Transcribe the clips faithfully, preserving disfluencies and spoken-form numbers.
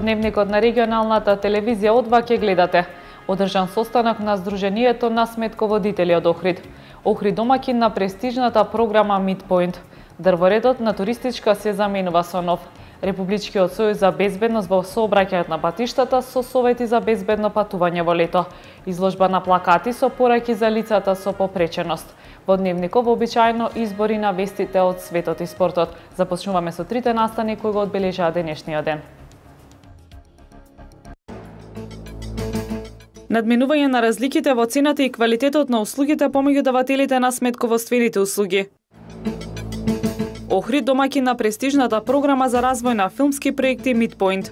Дневникот на регионалната телевизија Одва ќе гледате. Одржан состанок на Сдруженијето на сметководители од Охрид. Охрид домакин на престижната програма Midpoint. Дрворедот на туристичка се заменува со нов. Републичкиот сојуз за безбедност во сообраќајот на патиштата со совети за безбедно патување во лето. Изложба на плакати со пораки за лицата со попреченост. Во Дневников обичајно избори на вестите од светот и спортот. Започнуваме со трите настани кои го одбележаа денешниот ден. Надминување на разликите во цената и квалитетот на услугите помеѓу давателите на сметководствените услуги. Охрид домакин на престижната програма за развој на филмски проекти Midpoint.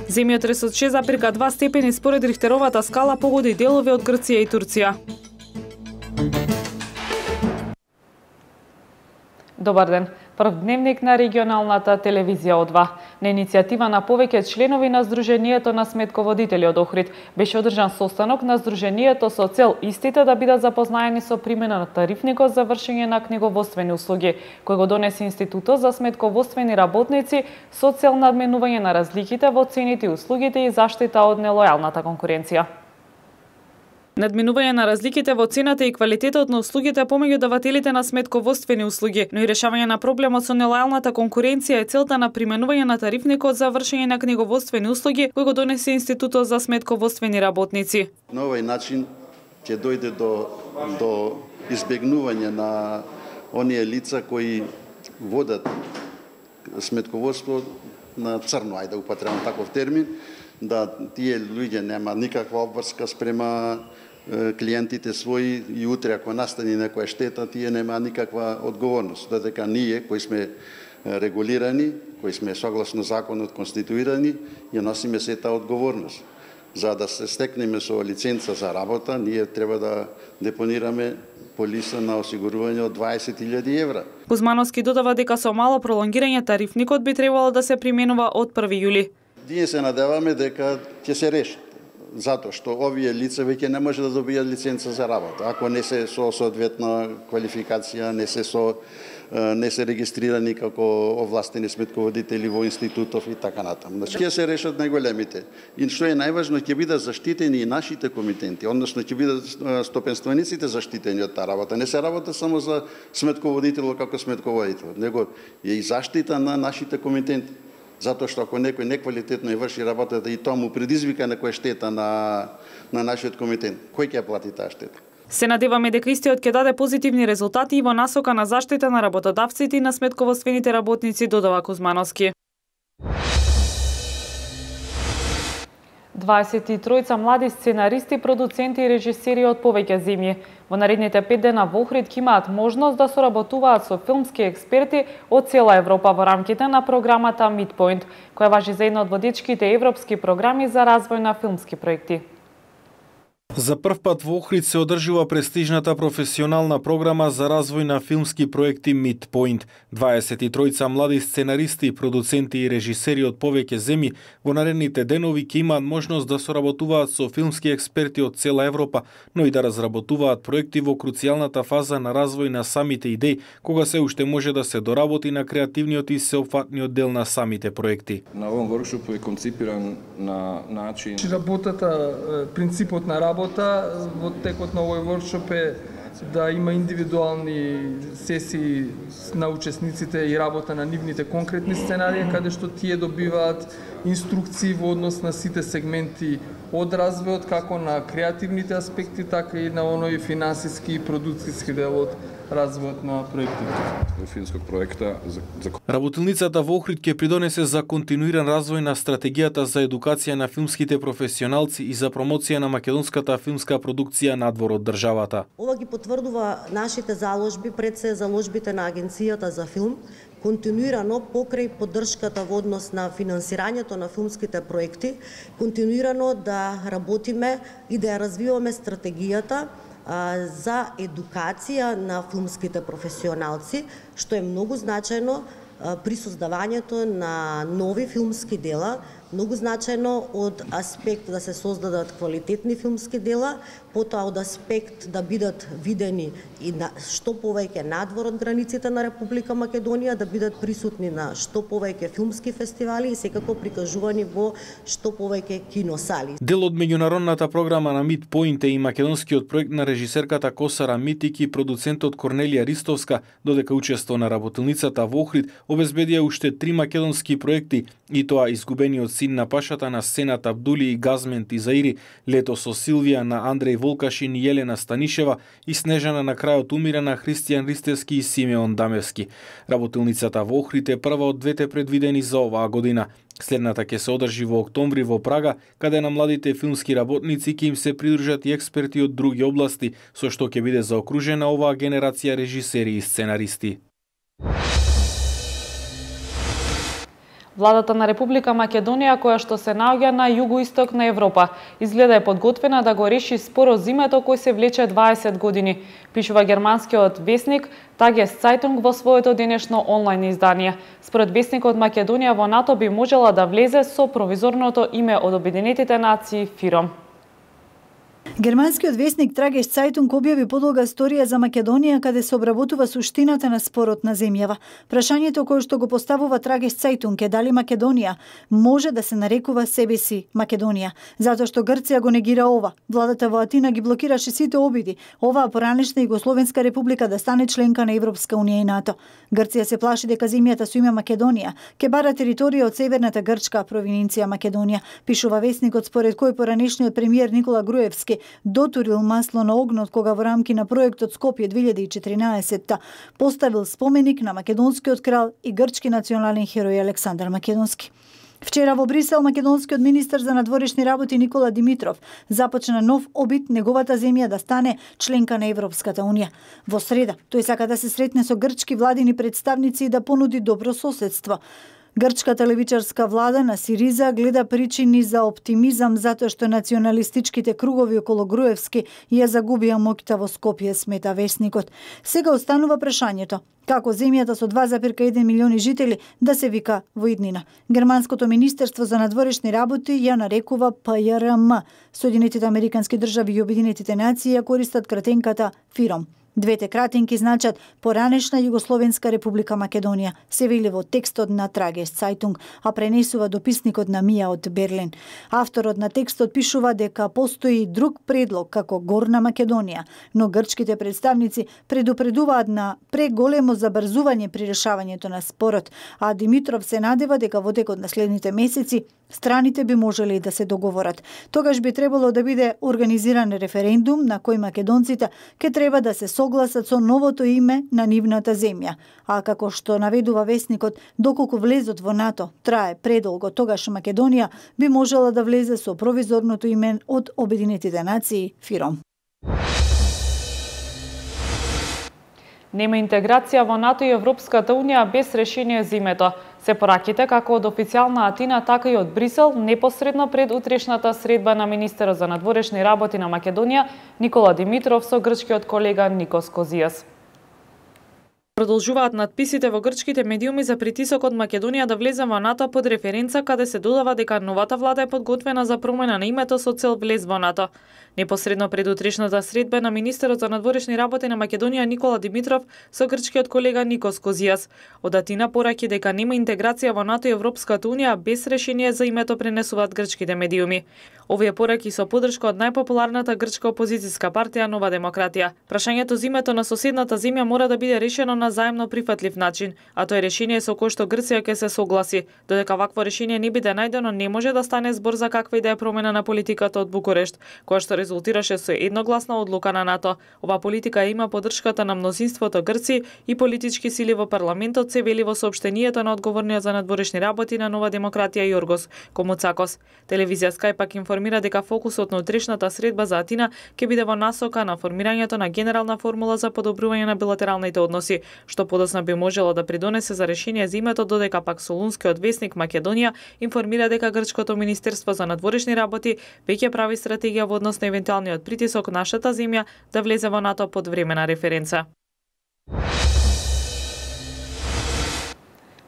Земјотрес од шест зарез и две степени според Рихтеровата скала погоди делови од Грција и Турција. Добар ден. Прв дневник на регионалната телевизија Одва. На иницијатива на повеќе членови на Сдруженијето на сметководители од Охрид беше одржан состанок на Сдруженијето со цел истите да бидат запознаени со примена на тарифникот за вршење на книговодствени услуги, кој го донесе Институтот за сметководствени работници со цел надменување на разликите во цените и услугите и заштита од нелојалната конкуренција. Надминување на разликите во цената и квалитетот на услугите помеѓу давателите на сметководствени услуги, но и решавање на проблемот со нелојалната конкуренција е целта на применување на тарифникот за вршење на книговодствени услуги кој го донесе Институтот за сметководствени работници. На овој начин ќе дојде до до избегнување на оние лица кои водат сметководство на црно, ајде да употребам таков термин, да тие луѓе нема никаква обврска спрема клиентите своји и утре ако настане некоја штета, тие нема никаква одговорност. Додека ние кои сме регулирани, кои сме согласно законот конституирани, ја носиме сета одговорност. За да се стекнеме со лиценца за работа, ние треба да депонираме полиса на осигурување од дваесет илјади евра. Кузмановски додава дека со мало пролонгирање тарифникот би требало да се применува од први јули. Ние се надеваме дека ќе се реши, затоа што овие лица веќе не може да добијат лиценца за работа, ако не се со соодветна квалификација, не се со не се регистрирани како овластени сметководители во институтов и така натаму. Значи ќе се решат најголемите. И што е најважно, ќе бидат заштитени и нашите комитенти, односно ќе бидат стопенствениците заштитени од таа работа. Не се работа само за сметководител како сметководител, него е и заштита на нашите комитенти. Затоа што ако некој неквалитетно ја врши работата и тоа му предизвика некоја штета на на нашиот комитет, кој ќе плати таа штета? Се надеваме дека истиот ќе даде позитивни резултати и во насока на заштита на работодавците и на сметководствените работници, додава Кузмановски. дваесет и тројца млади сценаристи, продуценти и режисери од повеќе земји во наредните пет дена во Охрид ќе имаат можност да соработуваат со филмски експерти од цела Европа во рамките на програмата Midpoint, која важи за една од водечките европски програми за развој на филмски проекти. За прв пат во Охрид се одржува престижната професионална програма за развој на филмски проекти Midpoint. дваесет и тројца млади сценаристи, продуценти и режисери од повеќе земји во наредните денови ќе имаат можност да соработуваат со филмски експерти од цела Европа, но и да разработуваат проекти во круцијалната фаза на развој на самите идеи, кога се уште може да се доработи на креативниот и сеопфатниот дел на самите проекти. На овој воркшоп е конципиран на начин работата, принципот на работа во текот на овој воркшоп е да има индивидуални сесии на учесниците и работа на нивните конкретни сценарии, каде што тие добиваат инструкции во однос на сите сегменти од развојот, како на креативните аспекти, така и на оној финансиски и продуцијски дел од развојот на проектите. Филмскog проекта за, за... Работилницата во Охрид ќе придонесе за континуиран развој на стратегијата за едукација на филмските професионалци и за промоција на македонската филмска продукција надвор од државата. Ова ги потврдува нашите заложби пред се заложбите на Агенцијата за филм, континуирано покрај поддршката во однос на финансирањето на филмските проекти, континуирано да работиме и да ја развиваме стратегијата за едукација на филмските професионалци, што е многу значајно при создавањето на нови филмски дела, многу значајно од аспект да се создадат квалитетни филмски дела, потоа од аспект да бидат видени и на што повеќе надвор од границите на Република Македонија, да бидат присутни на што повеќе филмски фестивали и секако прикажувани во што повеќе киносали. Дел од меѓународната програма на Midpoint е и македонскиот проект на режисерката Косара Митик и продуцентот Корнелија Ристовска, додека учество на работилницата во Охрид обезбедија уште три македонски проекти, и тоа Изгубениот син на пашата на сцената Абдули и Газмент и Заири, Лето со Силвија на Андреј Волкашин и Јелена Станишева и Снежана на крајот умира на Христијан Ристевски и Симеон Дамевски. Работилницата во Охрид е прва од двете предвидени за оваа година. Следната ќе се одржи во октомври во Прага, каде на младите филмски работници ќе им се придружат и експерти од други области, со што ќе биде заокружена оваа генерација режисери и сценаристи. Владата на Република Македонија, која што се наоѓа на југоисток на Европа, изгледа е подготвена да го реши спорот зимето кој се влече дваесет години, пишува германскиот весник Tageszeitung во своето денешно онлайн издание. Според весникот, Македонија во НАТО би можела да влезе со провизорното име од Обединетите нации ФИРОМ. Германскиот весник Tageszeitung објави подолга сторија за Македонија каде се обработува суштината на спорот на земјава. Прашањето кое што го поставува Tageszeitung е дали Македонија може да се нарекува себе си Македонија, затоа што Грција го негира ова. Владата во Атина ги блокираше сите обиди оваа поранешна Југословенска република да стане членка на Европска унија и НАТО. Грција се плаши дека земјата со име Македонија ќе бара територија од северната грчка провинција Македонија, пишува весникот, според кој поранешниот премиер Никола Груевски дотурил масло на огнот кога во рамки на проектот Скопје две илјади и четиринаесетта поставил споменик на македонскиот крал и грчки национален херој Александар Македонски. Вчера во Брисел македонскиот министер за надворешни работи Никола Димитров започна нов обид неговата земја да стане членка на Европската унија. Во среда тој сака да се сретне со грчки владини представници и да понуди добро соседство. Грчката левичарска влада на Сириза гледа причини за оптимизам затоа што националистичките кругови околу Груевски ја загубија моќта во Скопје, смета весникот. Сега останува прашањето како земјата со два зарез еден милиони жители да се вика во иднина. Германското министерство за надворешни работи ја нарекува П Ј Р М. Соединетите американски држави и Обединетите нации ја користат кратенката ФИРОМ. Двете кратинки значат поранешна Југословенска република Македонија, се вели во текстот на Tageszeitung, а пренесува дописникот на Мија од Берлин. Авторот на текстот пишува дека постои друг предлог како Горна Македонија, но грчките представници предупредуваат на преголемо забрзување при решавањето на спорот, а Димитров се надева дека во текот на следните месеци страните би можеле да се договорат. Тогаш би требало да биде организиран референдум на кој македонците ќе треба да се согласат со новото име на нивната земја. А како што наведува весникот, доколку влезот во НАТО трае предолго, тогаш Македонија би можела да влезе со провизорното име од Обединетите нации ФИРОМ. Нема интеграција во НАТО и Европската унија без решение зимето. Се пораките како од официјална Атина, така и од Брисел, непосредно пред утрешната средба на министерот за надворешни работи на Македонија Никола Димитров со грчкиот колега Никос Козијас. Продолжуваат надписите во грчките медиуми за притисокот Македонија да влезе во НАТО под референца, каде се додава дека новата влада е подготвена за промена на името со цел влез во НАТО. Непосредно пред утрешната средба на министерот за надворешни работи на Македонија Никола Димитров со грчкиот колега Никос Козијас. Од Атина пораки дека нема интеграција во НАТО и Европската унија без решение за името, пренесуваат грчките медиуми. Овие пораки со поддршка од најпопуларната грчка опозицијска партија Нова демократија. Прашањето за името на соседната земја мора да биде решено на заемно прифатлив начин, а тоа е решение со кое што Грција ќе се согласи. Додека вакво решение не биде најдено, не може да стане збор за каква и да е промена на политиката од Букурешт, која што резултираше со едногласна одлука на НАТО. Ова политика има поддршката на мнозинството Грци и политички сили во парламентот, се вели во соопштението на одговорниот за надворешни работи на Нова демократија Јоргос Комуцакос. Телевизија Скај пак информира дека фокусот на утрешната средба за Атина ќе биде во насока на формирањето на генерална формула за подобрување на билатералните односи, што подоцна би можело да придонесе за решение за името, додека пак Солунскиот весник Македонија информира дека грчкото министерство за надворешни работи веќе прави стратегија во однос на евентуалниот притисок нашата земја да влезе во НАТО под времена референца.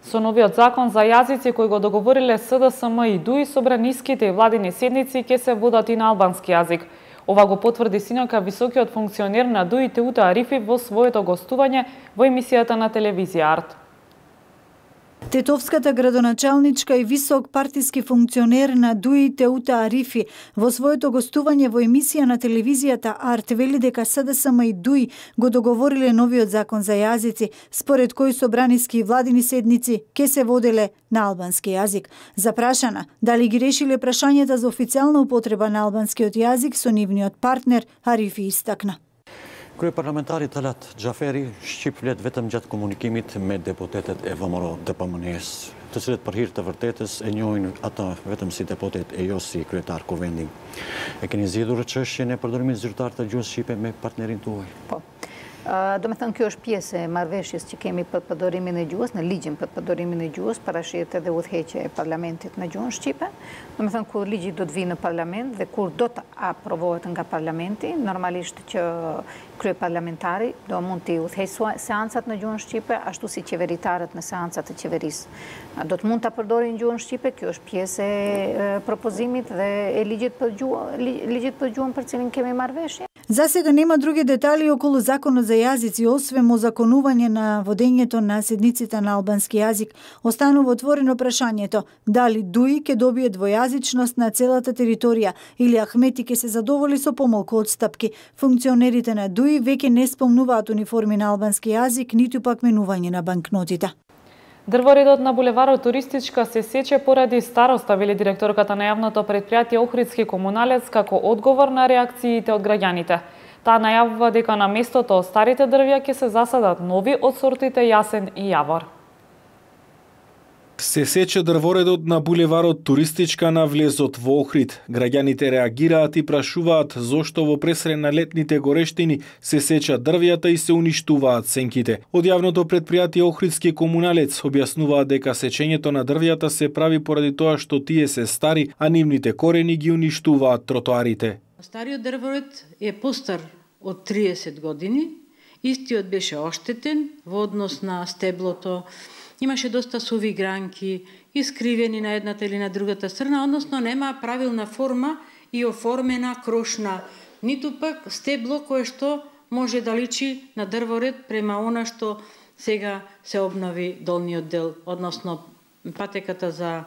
Со Со новиот закон за јазици кој го договориле С Д С М и ДУИ, собраниските и владини седници ќе се водат и на албански јазик. Ова го потврди синока високиот функционер на ДУИ Теута Арифи во своето гостување во емисијата на телевизија Арт. Тетовската градоначалничка и висок партиски функционер на ДУИ Теута Арифи во своето гостување во емисија на телевизијата Арт вели дека С Д С М и ДУИ го договориле новиот закон за јазици, според кој собраниски и владини седници ќе се воделе на албански јазик. Запрашана дали ги решиле прашањата за официјална употреба на албанскиот јазик со нивниот партнер, Арифи истакна. Kryeparlamentari të latë Xhaferi shqip flet vetëm gjatë komunikimit me deputetet e V M R D P M N-s, të cilët për hir të vërtetës e njohin ata vetëm si deputet e jo si kryetar kuvendi. E keni zgjedhur çështjen e përdorimit zyrtar të gjuhës shqipe me partnerin tuaj? Po. Do me thënë, kjo është pjesë e marrëveshjes që kemi për përdorimin e gjuhës, në ligjin për përdorimin e gjuhës, parashihet edhe udhëheqja e parlamentit në gjuhën shqipe. Do me thënë, kur ligji do të vinë në parlament dhe kur do të aprovohet nga parlamenti, normalisht që kryeparlamentari do mund të udhëheqë seancat në gjuhën shqipe, ashtu si qeveritarët në seancat e qeverisë. Do të mund ta përdorin gjuhën shqipe, kjo është pjesë e propozimit dhe e ligjit për gjuhën, ligjit për gjuhën për cilin kemi marrëveshje. За сега нема други детали околу законот за јазици, освен озаконување на водењето на седниците на албански јазик. Останува отворено прашањето дали ДУИ ќе добие двојазичност на целата територија или Ахмети ќе се задоволи со помалку одстапки. Функционерите на ДУИ веќе не спомнуваат униформи на албански јазик, ниту пак менување на банкнотите. Дрворедот на булеварот Туристичка се сече поради староста, вели директорката на јавното предпријатие Охридски комуналец како одговор на реакциите од граѓаните. Таа најавува дека на местото од старите дрвја ќе се засадат нови од сортите јасен и јавор. Се сече дрворедот на булеварот Туристичка на влезот во Охрид. Граѓаните реагираат и прашуваат зошто во пресред на летните горештини се сечат дрвјата и се уништуваат сенките. Од јавното предпријатие Охридски комуналец објаснуваат дека сечењето на дрвјата се прави поради тоа што тие се стари, а нивните корени ги уништуваат тротоарите. Стариот дрворед е постар од триесет години, истиот беше оштетен во однос на стеблото. Имаше доста суви гранки, искривени на едната или на другата страна, односно нема правилна форма и оформена крошна, ниту пак стебло кое што може да личи на дрворед према она што сега се обнови долниот дел, односно патеката за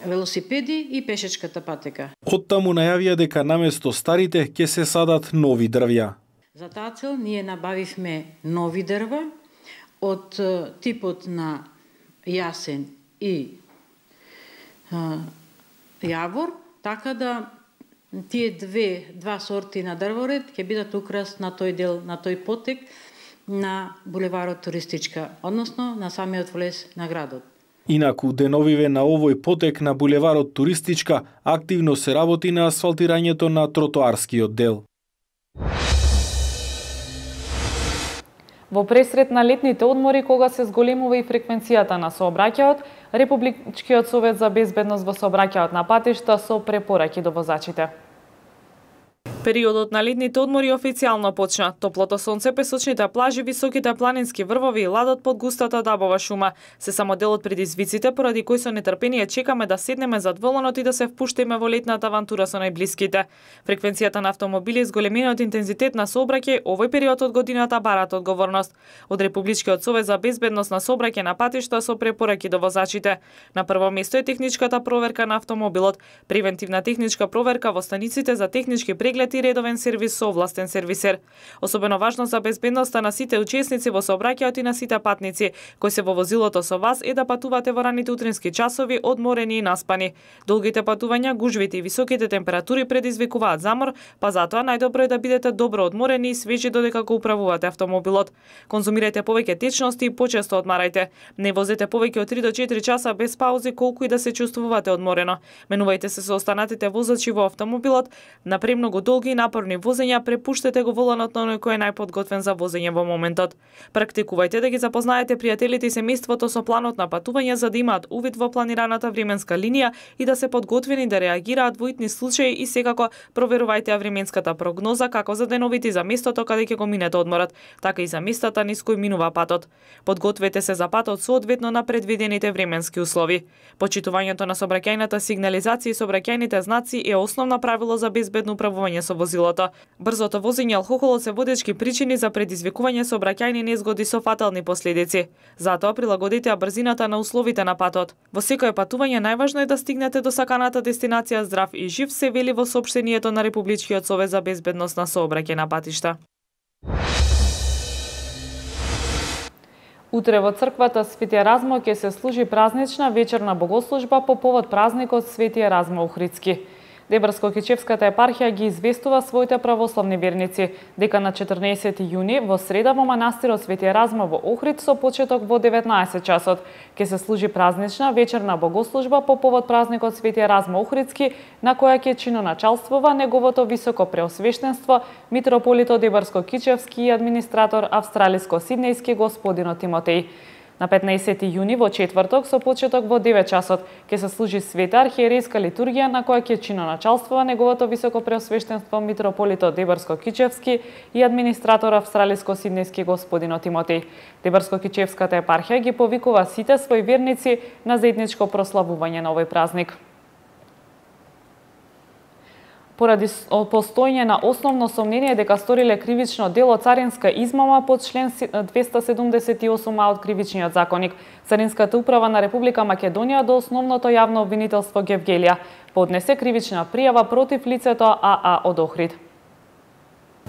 велосипеди и пешечката патека. Оттаму најавија дека наместо старите ќе се садат нови дрвја. За таа цел ние набавивме нови дрва од типот на јасен и а, јавор, така да тие две, два сорти на дрворед ќе бидат украс на тој дел, на тој потек на булеварот Туристичка, односно на самиот влез на градот. Инаку, деновиве на овој потек на булеварот Туристичка активно се работи на асфалтирањето на тротоарскиот дел. Во пресред на летните одмори, кога се зголемува и фреквенцијата на сообраќајот, Републичкиот совет за безбедност во сообраќајот на патишта со препораки до возачите. Периодот на летните одмори официјално почна. Топлото сонце, песочните плажи, високите планински врвови и ладот под густата дабова шума се само дел од предизвиците поради кои со нетрпение чекаме да седнеме зад воланот и да се впуштиме во летната авантура со најблиските. Фреквенцијата на автомобили, зголемениот интензитет на сообраќај овој период од годината барат одговорност. Од Републичкиот совет за безбедност на сообраќај на патишта со препораки до возачите. На прво место е техничката проверка на автомобилот, превентивна техничка проверка во станиците за технички преглед и редовен сервис со овластен сервисер. Особено важно за безбедноста на сите учесници во сообраќајот и на сите патници кои се во возилото со вас е да патувате во раните утрински часови одморени и наспани. Долгите патувања, гужвите и високите температури предизвикуваат замор, па затоа најдобро е да бидете добро одморени и свежи додека го управувате автомобилот. Конзумирајте повеќе течности и почесто одмарајте. Не возете повеќе од три до четири часа без паузи колку и да се чувствувате одморено. Менувајте се со останатите возачи во автомобилот на премногу долги долги и напорни возења, препуштете го воланот на оној кој е најподготвен за возење во моментот. Практикувајте да ги запознаете пријателите и семејството со планот на патување за да имаат увид во планираната временска линија и да се подготвени да реагираат во итни случаи и секако проверувајте ја временската прогноза како за деновите за местото каде ќе го минете одморот, така и за местата низ кои минува патот. Подгответе се за патот соодветно на предвидените временски услови. Почитувањето на сообраќајната сигнализација и сообраќајните знаци е основно правило за безбедно управување со возилото. Брзото возење и алкохолот се водечки причини за предизвикување сообраќајни незгоди со фатални последици. Затоа прилагодете ја брзината на условите на патот. Во секое патување најважно е да стигнете до саканата дестинација здрав и жив, се вели во соопштението на Републичкиот совет за безбедност на сообраќај на патишта. Утре во црквата Свети Еразмо ќе се служи празнична вечерна богослужба по повод празникот Свети Еразмо Охридски. Дебарско-Кичевската епархија ги известува своите православни верници дека на четрнаесети јуни во среда во манастирот Свети Еразмо во Охрид со почеток во деветнаесет часот ќе се служи празнична вечерна богослужба по повод празникот Свети Еразмо Охридски, на која ќе чиноначалствува неговото високо преосвештенство митрополитот Дебарско-Кичевски и администратор австралиско-сиднејски господин Тимотеј. На петнаесети јуни во четврток со почеток во девет часот ќе се служи света архиерејска литургија на која ќе чиноначалствува неговото високо преосвештенство митрополитот Дебарско-Кичевски и администратор австралиско-сиднејски господин Тимотеј. Дебарско-Кичевската епархија ги повикува сите своји верници на заедничко прославување на овој празник. Поради постоење на основно сомнение дека сториле кривично дело царинска измама под член двеста седумдесет и осум а од Кривичниот законник, Царинската управа на Република Македонија до основното јавно обвинителство Гевгелија поднесе кривична пријава против лицето А А од Охрид.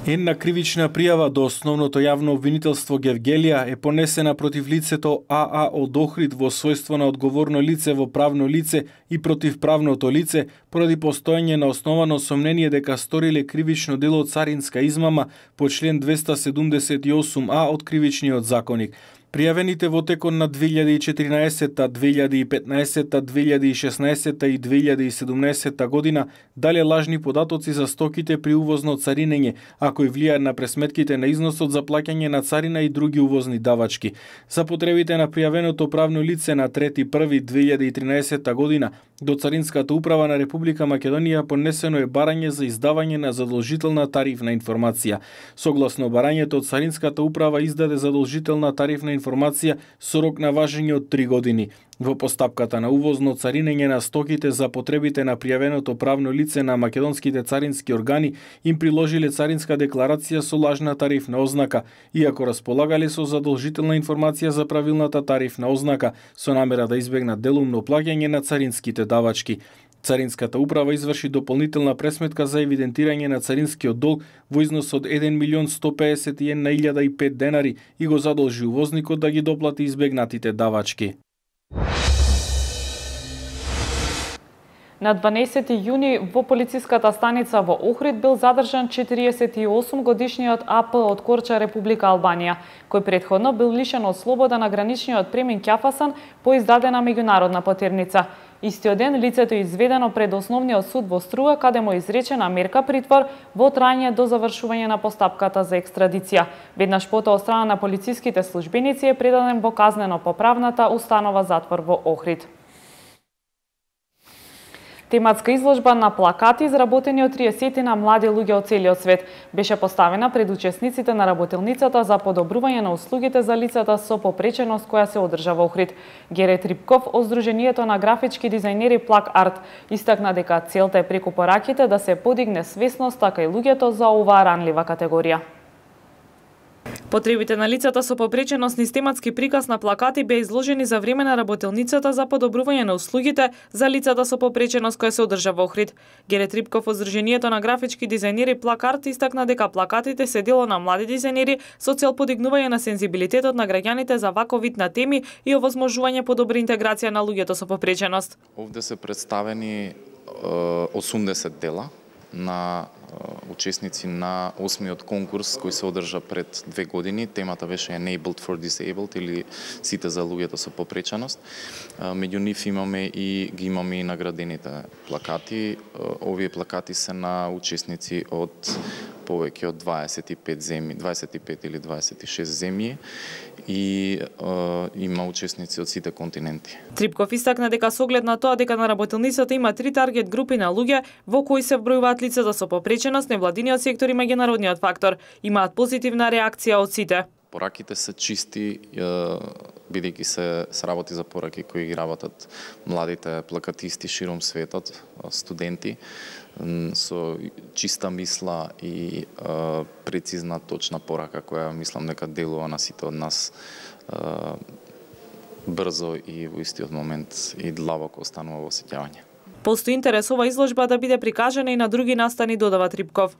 Една кривична пријава до основното јавно обвинителство Гевгелија е понесена против лицето А А од Охрид во својство на одговорно лице во правно лице и против правното лице поради постоење на основано сомнение дека сториле кривично дело царинска измама по член двеста седумдесет и осум а од Кривичниот законник. Пријавените во текот на две илјади и четиринаесетта, две илјади и петнаесетта, две илјади и шеснаесетта и две илјади и седумнаесетта година дале лажни податоци за стоките при увозно царинење, а кои влијаат на пресметките на износот за плаќање на царина и други увозни давачки. За потребите на пријавеното правно лице на трети први две илјади и тринаесетта година до Царинската управа на Република Македонија поднесено е барање за издавање на задолжителна тарифна информација. Согласно барањето, Царинската управа издаде задолжителна тарифна информација со рок на важење од три години. Во постапката на увозно царинење на стоките за потребите на пријавеното правно лице на македонските царински органи им приложиле царинска декларација со лажна тарифна ознака, иако располагале со задолжителна информација за правилната тарифна ознака, со намера да избегнат делумно плаќање на царинските давачки. Царинската управа изврши дополнителна пресметка за евидентирање на царинскиот долг во износ од еден милион сто пеесет и една илјада и пет денари и го задолжи увозникот да ги доплати избегнатите давачки. На дванаесети јуни во полициската станица во Охрид бил задржан четириесет и осум годишниот А П од Корча, Република Албанија, кој претходно бил лишен од слобода на граничниот Премин Ќафасан по издадена меѓународна потерница. Истиот ден лицето е изведено пред Основниот суд во Струга, каде му е изречена мерка притвор во трајање до завршување на постапката за екстрадиција. Веднаш потоа од страна на полициските службеници е предаден во казнено-поправната установа затвор во Охрид. Тематска изложба на плакати изработени од триесетина млади луѓе од целиот свет беше поставена пред учесниците на работилницата за подобрување на услугите за лицата со попреченост која се одржа во Охрид. Гере Трипков од Сдруженијето на графички дизајнери Плак Арт истакна дека целта е преку пораките да се подигне свесност така и луѓето за оваа ранлива категорија. Потребите на лицата со попреченост низ тематски приказ на плакати беа изложени за време на работилницата за подобрување на услугите за лицата со попреченост која се одржа во Охрид. Гере Трипков од Сдруженијето на графички дизајнери Плак Арт истакна дека плакатите се дело на млади дизајнери со цел подигнување на сензибилитетот на граѓаните за ваков вид на теми и овозможување подобра интеграција на луѓето со попреченост. Овде се представени осумдесет дела на учесници на осмиот конкурс кој се одржа пред две години. Темата беше Enabled for Disabled или сите за луѓето со попреченост. Меѓу нив имаме и ги имаме и наградените плакати. Овие плакати се на учесници од повеќе од дваесет и пет земји, дваесет и пет или дваесет и шест земји и е, има учесници од сите континенти. Трипков истакна дека со оглед на тоа дека на работилницата има три таргет групи на луѓе во кои се вбројуваат лицата со попреченост, невладиниот сектор и меѓународниот фактор, имаат позитивна реакција од сите. Пораките се чисти, бидејќи се сработи за пораки кои ги работат младите плакатисти широм светот, студенти, со чиста мисла и е, прецизна, точна порака која мислам дека делува на сите од нас е, брзо и во истиот момент и длабоко останува во сеќавање. Постои интерес ова изложба да биде прикажана и на други настани, додава Трипков.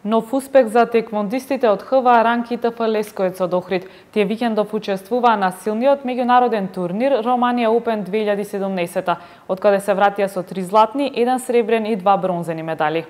Нов успех за теквондистите од ХВА Ранк и ТФ Лесковец од Охрид. Тие викендов учествуваа на силниот меѓународен турнир Романија Open две илјади и седумнаесет, од каде се вратија со три златни, еден сребрен и два бронзени медали.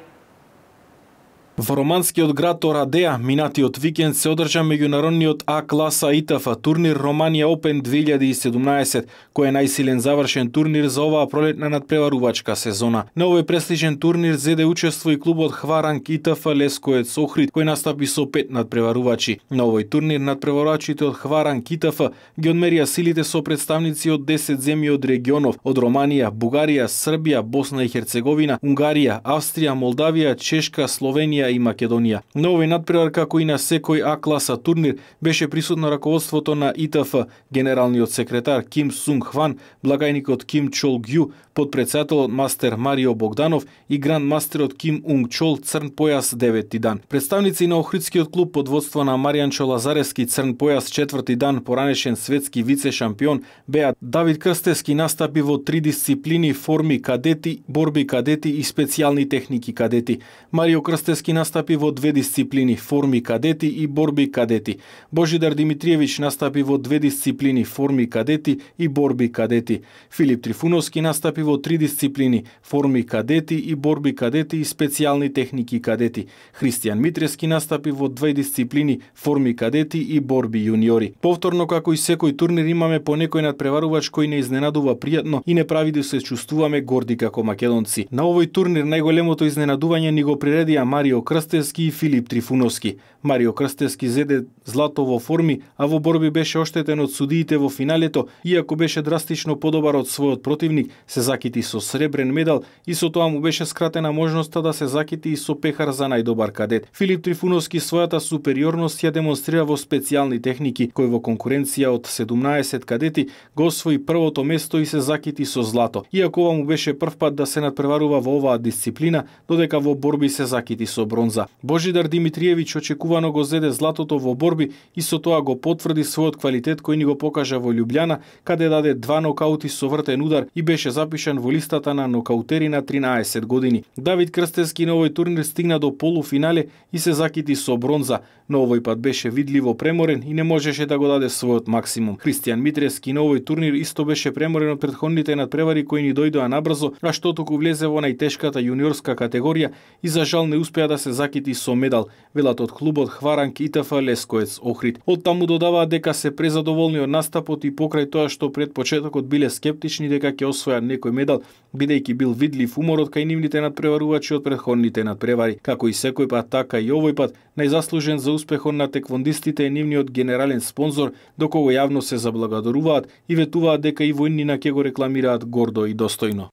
Во романскиот град Орадеа, минатиот викенд се одржа меѓународниот А класа И Т Ф турнир Романија Open две илјади и седумнаесет, кој е најсилен завршен турнир за оваа пролетна надпреварувачка сезона. На овој престижен турнир зеде учество и клубот ХВА Ранк И Т Ф Лесковец Охрид, кој настапи со пет надпреварувачи. На овој турнир надпреварувачите од ХВА Ранк И Т Ф ги одмерија силите со представници од десет земји од регионов, од Романија, Бугарија, Србија, Босна и Херцеговина, Унгарија, Австрија, Молдавија, Чешка, Словенија и Македонија. На овој надпревар, како и на секој А класа турнир, беше присутно раководството на И Т Ф, генералниот секретар Ким Сунг Хван, благајникот Ким Чол Гју, подпредседателот мастер Марио Богданов и грандмастерот Ким Унг Чол црн појас деветти дан. Представници на Охридскиот клуб под водство на Маријанчо Лазарески црн појас четврти дан, поранешен светски вице шампион, беа Давид Крстевски настапи во три дисциплини: форми кадети, борби кадети и специјални техники кадети. Марио Крстевски настапи во две дисциплини: форми кадети и борби кадети. Божидар Димитриевич настапи во две дисциплини: форми кадети и борби кадети. Филип Трифуновски настапи во три дисциплини: форми кадети и борби кадети и специјални техники кадети. Христијан Митрески настапи во две дисциплини: форми кадети и борби јуниори. Повторно, како и секој турнир, имаме по некој надпреварувач кој не изненадува пријатно и не прави да се чувствуваме горди како македонци. На овој турнир најголемото изненадување ни го приредија Марио Крстевски и Филип Трифуновски. Марио Крстевски зеде злато во форми, а во борби беше оштетен од судиите во финалето, иако беше драстично подобар од својот противник, се закити со сребрен медал и со тоа му беше скратена можноста да се закити и со пехар за најдобар кадет. Филип Трифуновски својата супериорност ја демонстрира во специјални техники, кој во конкуренција од седумнаесет кадети го освои првото место и се закити со злато. Иако ова му беше првпат да се надпреварува во оваа дисциплина, додека во борби се закити со бронза. Божидар Димитриевич очекувано го зеде златото во борби и со тоа го потврди својот квалитет кој ни го покажа во Љубљана, каде даде два нокаути со вртен удар и беше запишан во листата на нокаутери на тринаесет години. Давид Крстевски на овој турнир стигна до полуфинале и се закити со бронза, но овој пат беше видливо преморен и не можеше да го даде својот максимум. Христијан Митрески на овој турнир исто беше преморен од претходните надпревари кои ни дојдоа набрзо, а што току влезе во најтешката јуниорска категорија и за жал не успеа да се закити со медал, велат од клубот ХВА Ранк И Т Ф Лесковец Охрид. Од таму додаваат дека се презадоволни од настапот и покрај тоа што пред почетокот биле скептични дека ќе освојат некој медал, бидејќи бил видлив уморот кај нивните надпреварувачи од претходните надпревари. Како и секој пат, така и овој пат, најзаслужен за успехот на теквондистите е нивниот генерален спонзор, до кого јавно се заблагодаруваат и ветуваат дека и војнина ќе го рекламираат гордо и достојно.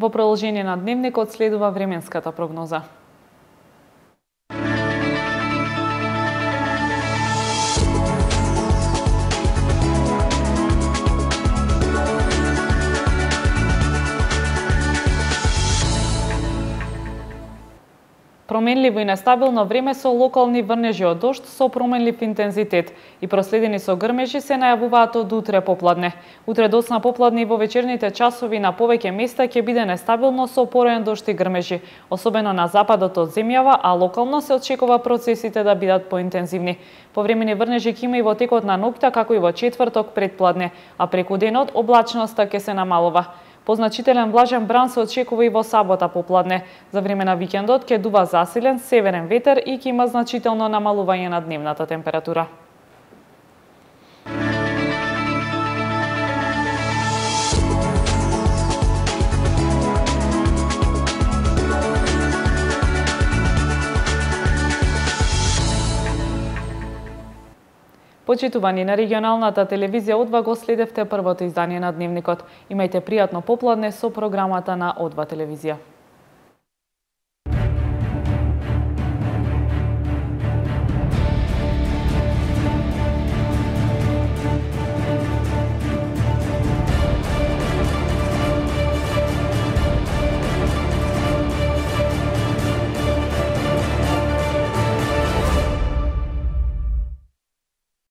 Во продолжение на дневникот следува временската прогноза. Променливо и нестабилно време со локални врнежи од дожд со променлив интензитет и проследени со грмежи се најавуваат од утре попладне. Утре доцна попладне и во вечерните часови на повеќе места ќе биде нестабилно со пороен дожд и грмежи, особено на западот од земјава, а локално се очекува процесите да бидат поинтензивни. Повремени врнежи ќе има и во текот на ноќта, како и во четврток предпладне, а преку денот облачноста ќе се намалува. Позначителен влажен бран се очекува и во сабота попладне. За време на викендот ќе дува засилен северен ветер и ќе има значително намалување на дневната температура. Почитувани, на регионалната телевизија О два го следевте првото издание на Дневникот. Имајте пријатно попладне со програмата на О два телевизија.